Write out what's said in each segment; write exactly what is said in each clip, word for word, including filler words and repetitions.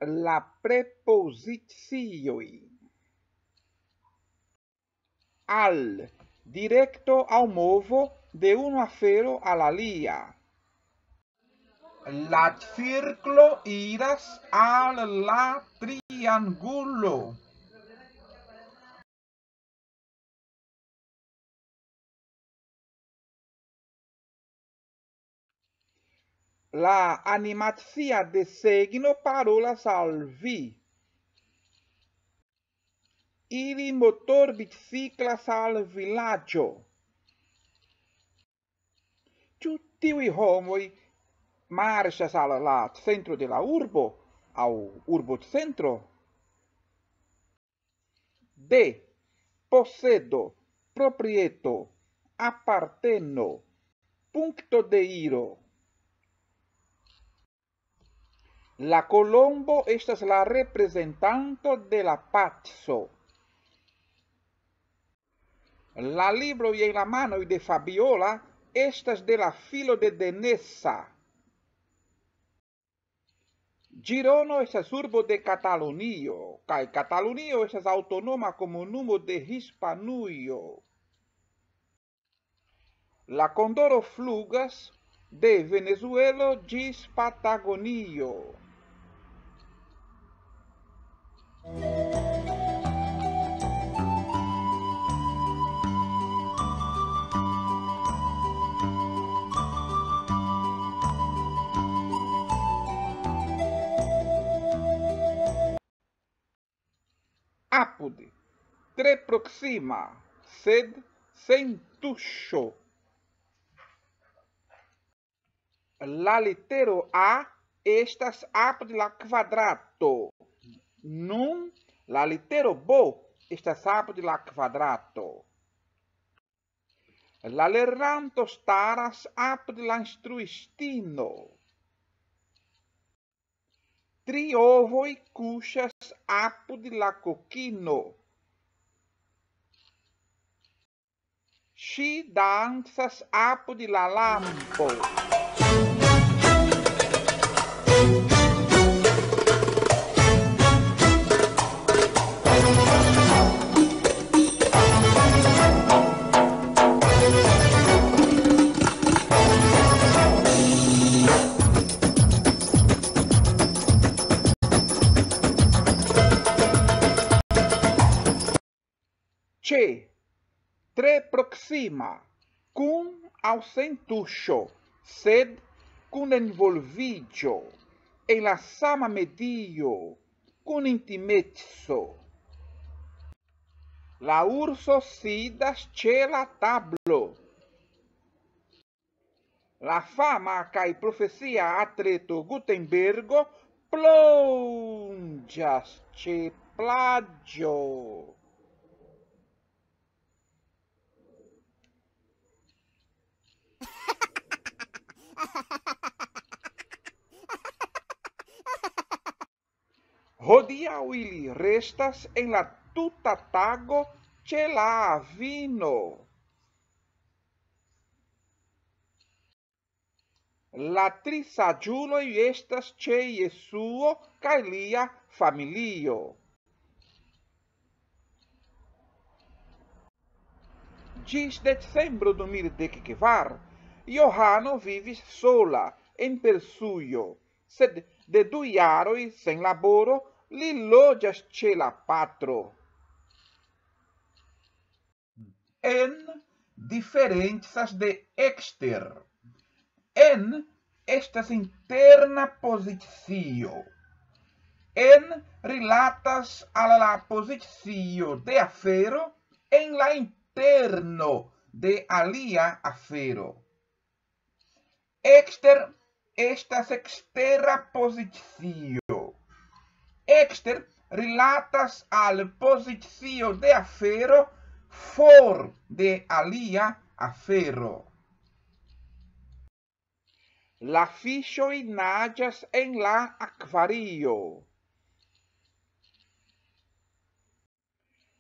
La prepozicioj. Al, direkto aŭ movo de unu afero al alia. La cirklo iras al la triangulo. La animacia desegno parolas al vi. Ili motorbiciklas al vilaĝo. Ĉu tiuj homoj marŝas al la centro de la urbo aŭ urbocentro? De, posedo, proprieto, aparteno, punkto de iro. La kolombo estas la reprezentanto de la paco. La libroj en la manoj de Fabiola estas de la filo de Denesa. Ĝirono estas urbo de Katalunio, kaj Katalunio estas aŭtonoma komunumo de Hispanujo. La kondoro flugas de Venezuelo ĝis Patagonio. Apud, tre proksima, sed sen tuŝo. La litero A estas apud la kvadrato. Nun la litero B estas apud la kvadrato. La lernanto staras apud la instruistino. Tri ovoj kuŝas apud la kokino. Ŝi dancas apud la lampo. Ĉe, tre proksima, kun aŭ sen tuŝo, sed kun envolviĝo en la sama medio, kun intimeco. La urso sidas ĉe la tablo. La fama kaj profesia atleto Gutenbergo plonĝas ĉe plaĝo. Hodiaŭ ili restas en la tuta tago ĉe la avino. La tri saĝuloj estas ĉe Jesuo kaj lia familio. Ĝis decembro du mil dek kvar, Johano vivis sola en Persujo, sed de du jaroj sen laboro li loĝas ĉe la patro. En diferencas de ekster. En estas interna pozicio. En rilatas al la pozicio de afero en la interno de alia afero. Ekster estas ekstera pozicio. Ekster rilatas al pozicio de afero for de alia afero. La fiŝoj naĝas en la akvario.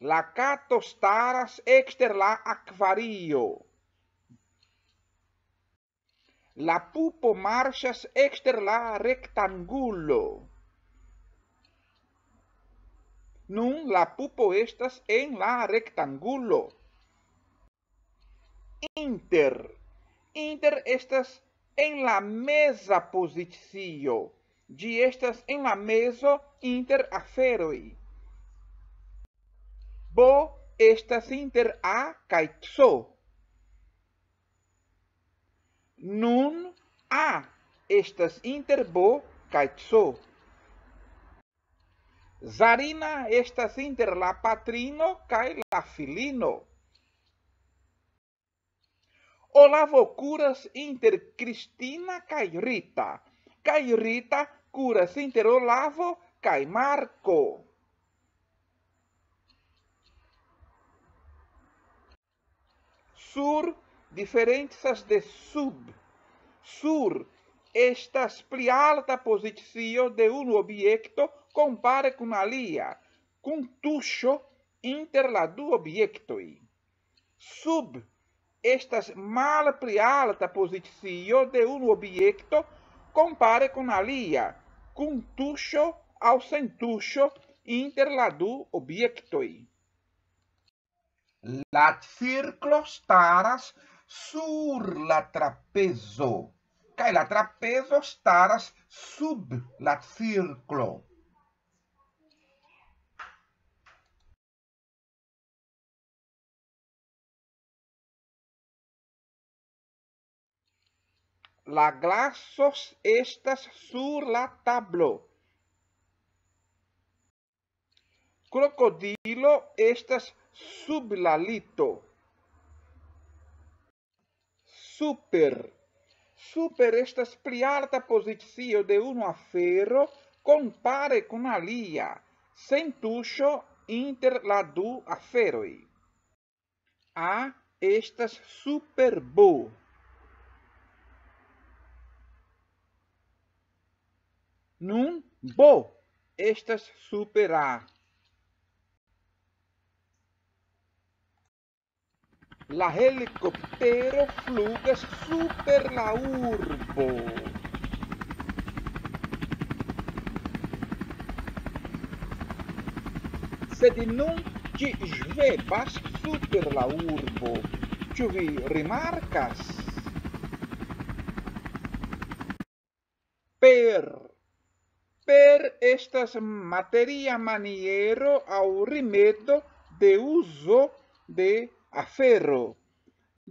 La kato staras ekster la akvario. La pupo marŝas ekster la rektangulo. Nun la pupo estas en la rektangulo. Inter. Inter estas en la meza pozicio. Ĝi estas en la mezo inter aferoj. Bo estas inter A kaj C. Nun A estas inter B kaj C. Zarina estas inter la patrino kaj la filino. Olavo kuras inter Kristina kaj Rita, kaj Rita kuras inter Olavo kaj Marko. Sur diferencas de sub. Sur estas pli alta pozicio de unu objekto kompare kun alia, kun tuŝo inter la du objektoj. Sub estas malpli alta pozicio de unu objekto kompare kun alia, kun tuŝo aŭ sen tuŝo inter la du objektoj. La cirklo staras sur la trapezo, kaj la trapezo staras sub la cirklo. La glaso estas sur la tablo. Krokodilo estas sub la lito. Super. Super estas pli alta pozicio de unu afero kompare kun alia, sen tuŝo inter la du aferoj. A estas super B. Nun B estas super A. La helikoptero flugas super la urbo. Sed nun ĝi ŝvebas super la urbo. Ĉu vi rimarkas? Per. Per estas materia maniero aŭ rimedo de uzo de afero.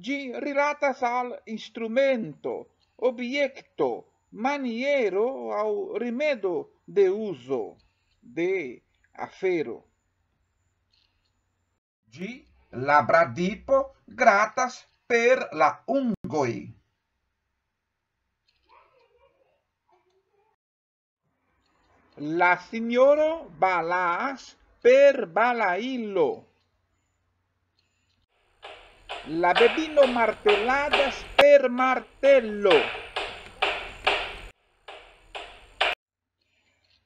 Ĝi rilatas al instrumento, objekto, maniero aŭ rimedo de uzo de afero. Ĝi, la bradipo, gratas per la ungoj. La sinjoro balas per balailo. La bebino marteladas per martelo.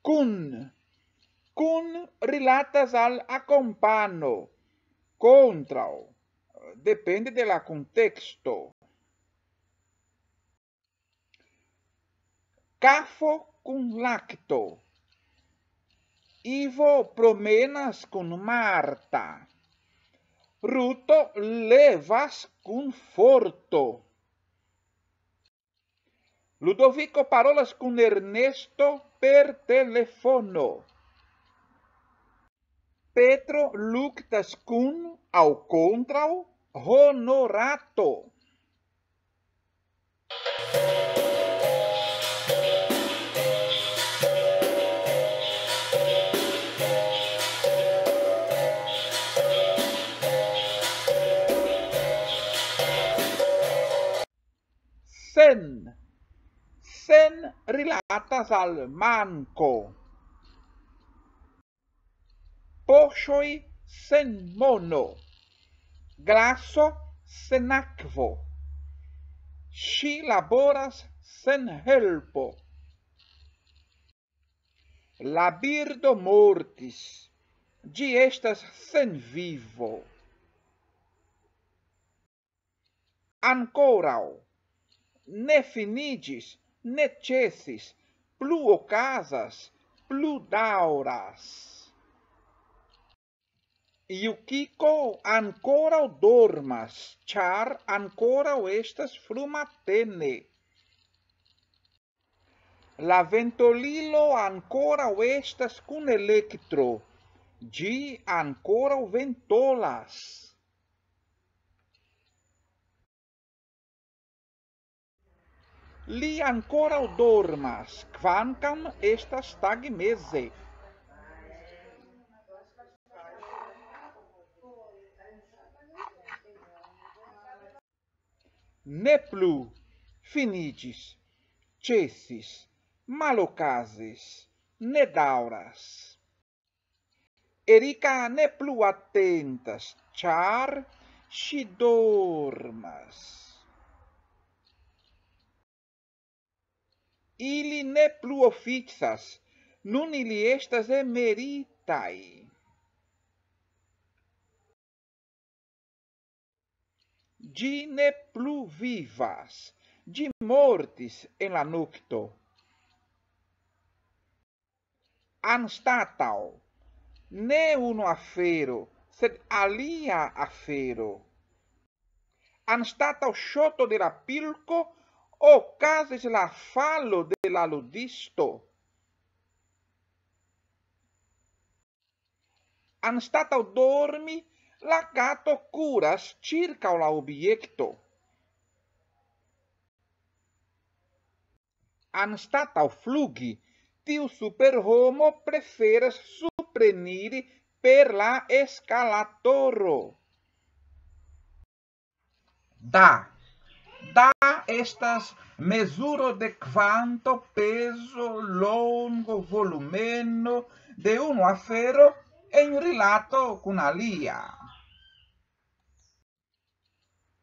Kun. Kun rilatas al akompano. Kontraŭ. Depende de la kunteksto. Kafo kun lakto. Ivo promenas kun Marta. Ruto levas kun forto. Ludoviko parolas kun Ernesto per telefono. Petro luktas kun aŭ kontraŭ Honorato. Sen. Sen rilatas al manko. Poŝoj sen mono. Glaso sen akvo. Ŝi laboras sen helpo. La birdo mortis. Ĝi estas sen vivo. Ankoraŭ. Ne finiĝis, ne ĉesis. Plu okazas, plu daŭras. Jukiko ankoraŭ dormas, ĉar ankoraŭ estas frumatene. La ventolilo ankoraŭ estas kun elektro. Ĝi ankoraŭ ventolas. Li ankoraŭ dormas, kvankam estas tagmeze. Ne plu, finiĝis, ĉesis, malokazis, ne daŭras. Erika ne plu atentas, ĉar ŝi dormas. Ili ne plu oficas, nun ili estas emeritaj. Ĝi ne plu vivas, ĝi mortis en la nokto. Anstataŭ, ne unu afero, sed alia afero. Anstataŭ ŝoto de la pilko okazis la falo de la ludisto. Anstataŭ dormi, la kato kuras ĉirkaŭ la objekto. Anstataŭ flugi, tiu superhomo preferas supreniri per la eskalatoro. Da. Da estas mezuro de kvanto, pezo, longo, volumeno de unu afero en rilato kun alia.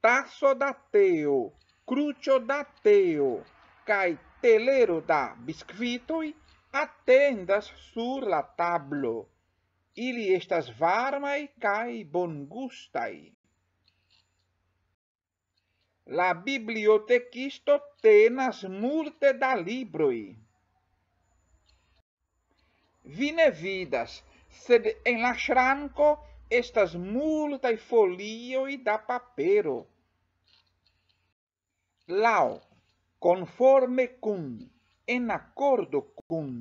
Taso da teo, kruĉo da teo kaj telero da biskvitoj atendas sur la tablo. Ili estas varmaj kaj bongustaj. La bibliotekisto tenas multe da libroj. Vi ne vidas, sed en la ŝranko estas multaj folioj da papero. Laŭ, konforme kun, en akordo kun.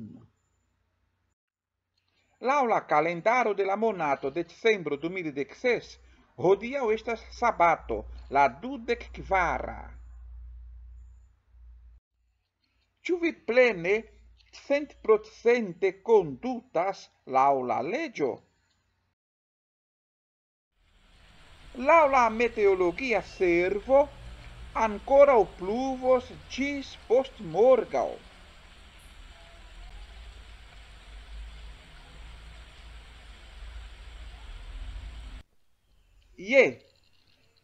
Laŭ la kalendaro de la monato decembro du mil dek ses, hodiaŭ estas sabato, la dudek kvara. Ĉu vi plene, centprocente kondutas laŭ la leĝo? Laŭ la meteologia servo, ankoraŭ pluvos ĝis postmorgaŭ. Je,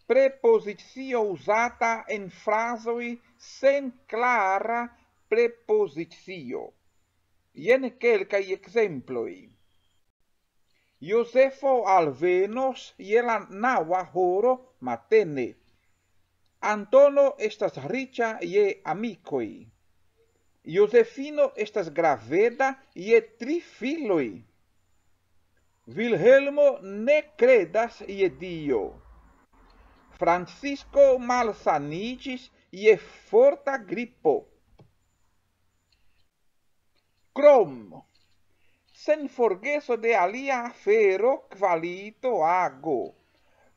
prepozicio uzata en frazoj sen klara prepozicio. Jen kelkaj ekzemploj. Jozefo alvenos je la naŭa horo matene. Antono estas riĉa je amikoj. Jozefino estas graveda je tri filoj. Vilhelmo ne kredas je Dio. Francisco malsaniĝis je forta gripo. Krom. Sen forgeso de alia afero, kvalito ago.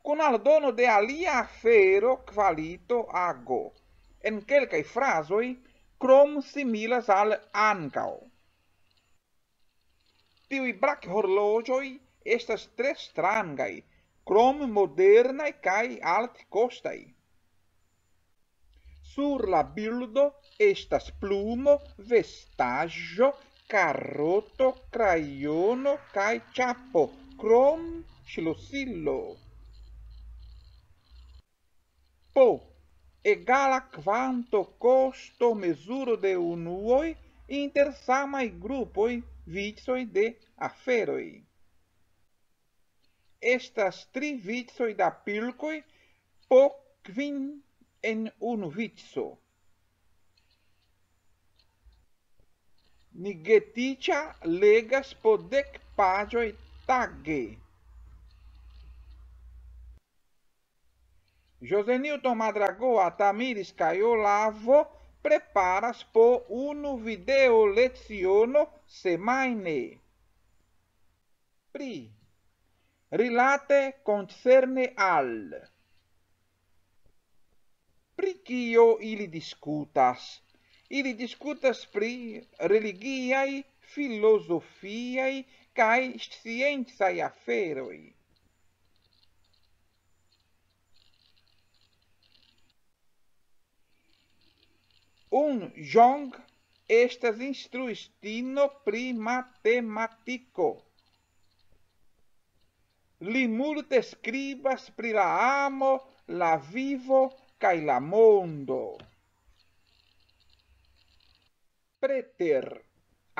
Kun aldono de alia afero, kvalito ago. En kelkaj frazoj, krom similas al ankaŭ. Tiuj brakhorloĝoj estas tre strangaj, krom modernaj kaj altkostaj. Sur la bildo estas plumo, vestaĵo, karoto, krajono kaj ĉapo, krom ŝlosilo. Po, egala kvanto, kosto, mezuro de unuoj inter samaj grupoj, vicoj de aferoj. Estas tri vicoj da pilkoj po kvin en unu vico. Nigetiĉa legas po dek paĝoj tage. José Newton Madragoa, Tamiris kaj Olavo preparas po unu video leciono semajne. Pri, rilate, koncerne al. Pri kio ili diskutas? Ili diskutas pri religiaj, filozofiaj kaj sciencaj aferoj. Un Jong estas instruistino pri matematiko. Li multe skribas pri la amo, la vivo kaj la mondo. Preter,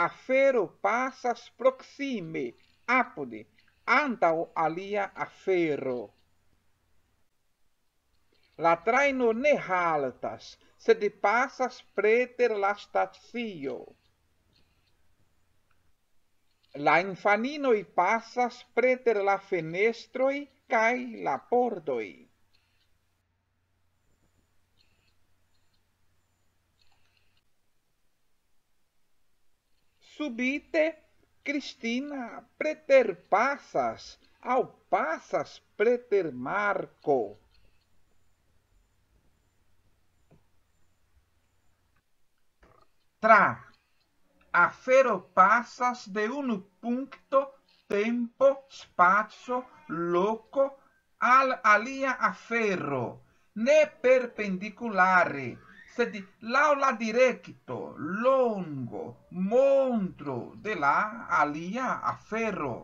afero pasas proksime, apude, antaŭ alia afero. La trajno ne haltas, sed pasas preter la stacio. La infaninoj pasas preter la fenestroj kaj la pordoj. Subite Cristina preterpasas aŭ pasas preter Marko. Tra, afero pasas de unu punkto, tempo, spaco, loko al alia afero, ne perpendikulare, sed laŭ la direkto, longo, montro de la alia afero.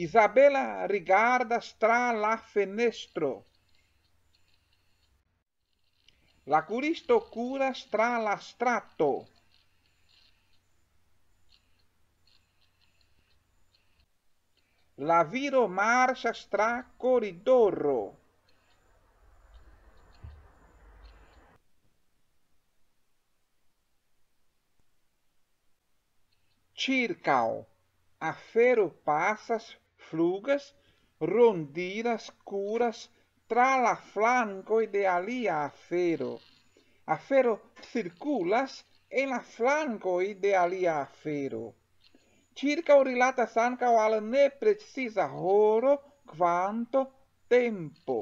Isabela rigardas tra la fenestro. La kuristo kuras tra la strato. La viro marŝas tra koridoro. Ĉirkaŭ, afero pasas, flugas, rondiras, kuras tra la flankoj de alia afero. Afero cirkulas en la flankoj de alia afero. Ĉirkaŭ rilatas ankaŭ al nepreciza horo, kvanto, tempo.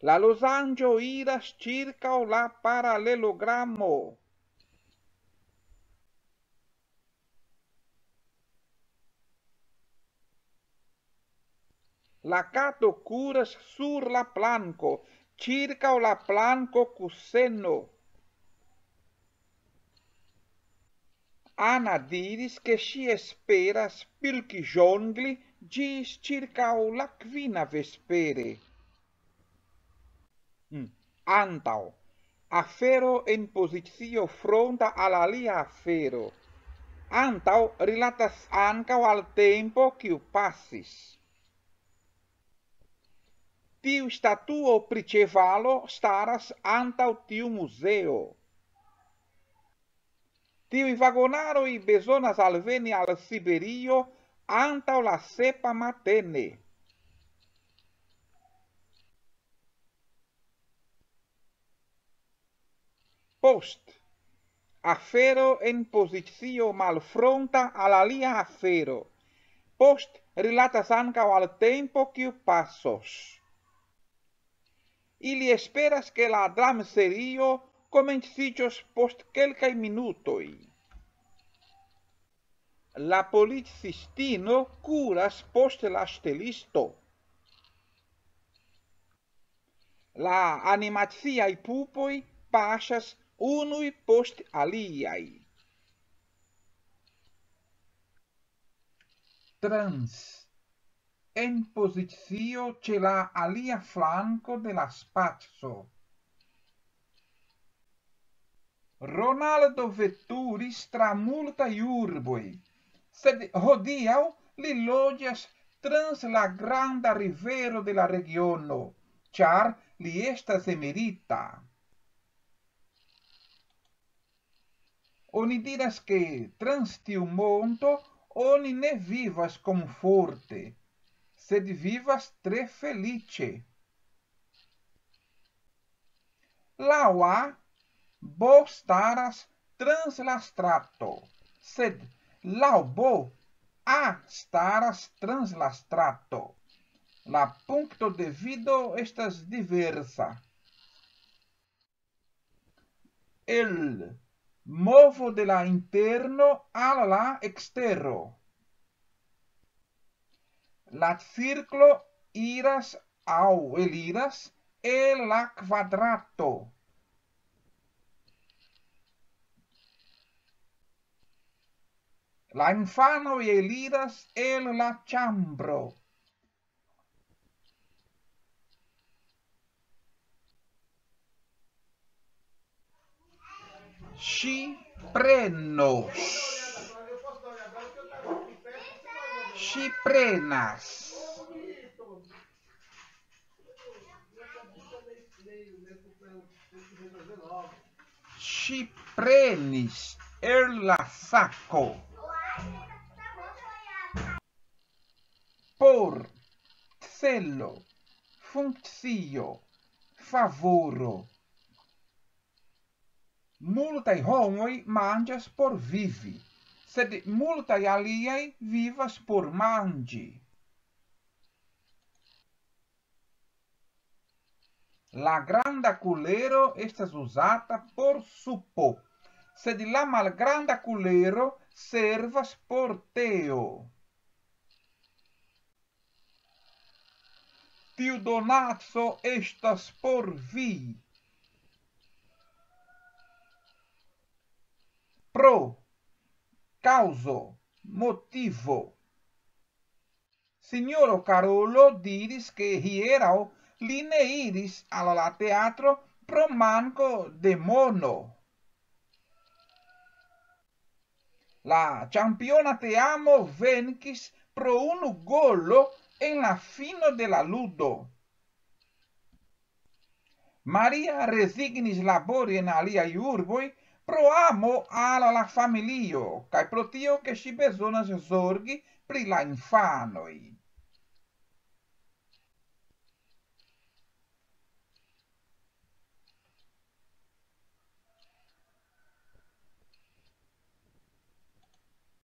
La losanĝo iras ĉirkaŭ la paralelogramo. La kato kuras sur la planko, ĉirkaŭ la planko kuseno. Ana diris, ke ŝi esperas pilki ĵongli ĝis ĉirkaŭ la kvina vespere. Mm. Antaŭ. Afero en pozicio fronta al alia afero. Antaŭ rilatas ankaŭ al tempo, kiu pasis. Tiu statuo pri ĉevalo staras antaŭ tiu muzeo. Tiuj vagonaroj bezonas alveni al Siberio antaŭ la sepa matene. Post. Afero en pozicio malfronta al alia afero. Post rilatas ankaŭ al tempo, kiu pasos. Ili esperas, ke la dramserio komenciĝos post kelkaj minutoj. La policistino kuras post la ŝtelisto. La animaciaj pupoj paŝas unuj post aliaj. Trans. En pozicio ĉe la alia flanko de la spaco. Ronaldo veturis tra multaj urboj, sed hodiaŭ li loĝas trans la granda rivero de la regiono, ĉar li estas emerita. Oni diras, ke trans tiu monto Oni ne vivas komforte, sed vivas tre feliĉe. Laŭ A, bo staras trans la strato, sed laŭ bo, A staras trans la strato. La punkto de vido estas diversa. El movo de la interno al la ekstero. La cirklo iras aŭ eliras el la kvadrato. La infanoj eliras el la ĉambro. Ŝi prenos. Ŝi prenas. Ŝi prenis el la sako. Por, celo, funkcio, favoro. Multaj homoj manĝas por vivi, sed multaj aliaj vivas por manĝi. La granda kulero estas uzata por supo, sed la malgranda kulero servas por teo. Tiu donaco estas por vi. Pro, kaŭzo, motivo. Sinjoro Karolo diris, ke hieraŭ li ne iris al la teatro pro manko de mono. La ĉampiona teamo venkis pro unu golo en la fino de la ludo. Maria rezignis labori en aliaj urboj pro amo al la familio, kaj pro tio, ke ŝi bezonas zorgi pri la infanoj.